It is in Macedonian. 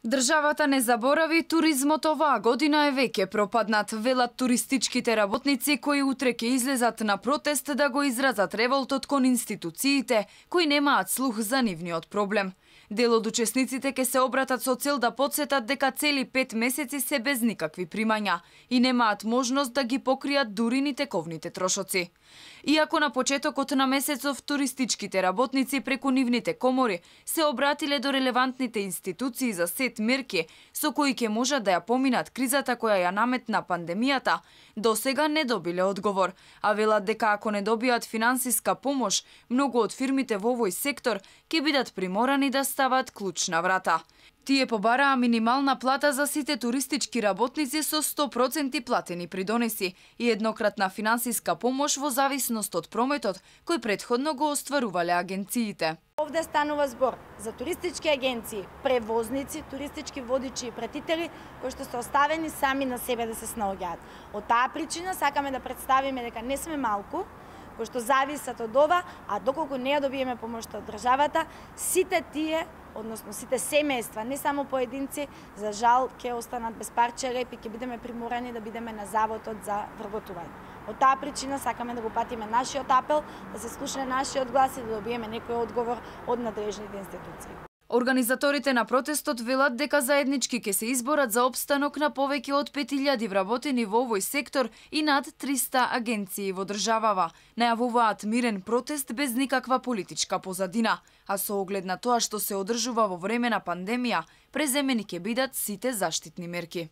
Државата не заборави, туризмот оваа година е веќе пропаднат, велат туристичките работници кои утре ќе излезат на протест да го изразат револтот кон институциите кои немаат слух за нивниот проблем. Дел од учесниците ќе се обратат со цел да потсетат дека цели 5 месеци се без никакви примања и немаат можност да ги покријат дури ни тековните трошоци. Иако на почетокот на месецов туристичките работници преку нивните комори се обратиле до релевантните институции за сет мерки со кои ќе можат да ја поминат кризата која ја наметна пандемијата, досега не добиле одговор, а велат дека ако не добијат финансиска помош, многу од фирмите во овој сектор ќе бидат приморани да стават клуч на врата. Тие побараа минимална плата за сите туристички работници со 100% платени придонеси и еднократна финансиска помош во зависност од прометот кој претходно го остварувале агенциите. Овде станува збор за туристички агенции, превозници, туристички водичи и пратители кои што се оставени сами на себе да се снаоѓаат. Од таа причина сакаме да представиме дека не сме малку, кои што зависат од ова, а доколку не ја добиеме помошта од државата, сите тие, односно сите семејства, не само поединци, за жал ќе останат без парче реп и ќе бидеме приморани да бидеме на заводот за вработување. Од таа причина сакаме да го патиме нашиот апел, да се слушне нашиот глас и да добиеме некој одговор од надрежните институции. Организаторите на протестот велат дека заеднички ќе се изборат за опстанок на повеќе од 5000 вработени во овој сектор и над 300 агенции во државава. Најавуваат мирен протест без никаква политичка позадина, а со оглед на тоа што се одржува во време на пандемија, преземени ќе бидат сите заштитни мерки.